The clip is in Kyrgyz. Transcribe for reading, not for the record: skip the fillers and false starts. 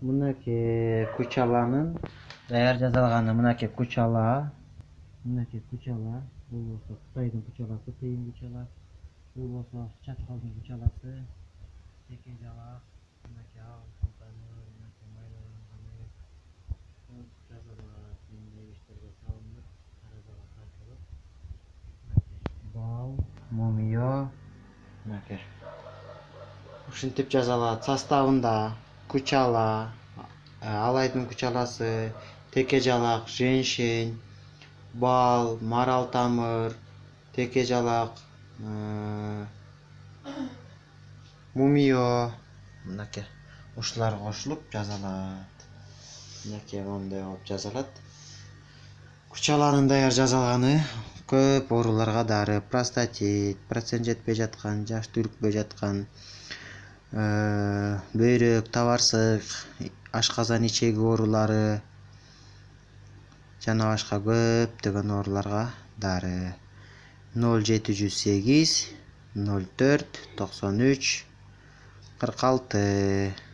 Мынакей кучаланын даяр жасалганы. Мынакей кучала. Мынакей кучала. Бул болсо Кытайдын кучаласы, тыйын кучала. Бул болсо чачкалдын кучаласы. Теке жалак. Мынакей алтын тамыр, мынакей майланганы. Жазалат, мындай иштерге салынып, таразага тартылып. Мынакей бал, мумиё. Мынакей. Ушинтип жазалат. Составында кучала, алайдын кучаласы, теке жалак, женьшень, бал, марал тамыр, теке жалак, мумиё. Мынакей ушулар кошулуп жазалат. Мынакей мондай болуп жазалат. Кучаланын даяр жасалганы көп ооруларга дары. Простатит, процент жетпей жаткан, жаш түрүкпөй жаткан, бөйрөк, табарсык, ашказан ичеги оорулары жана башка көптөгөн ооруларга дары. 0708 04 93 46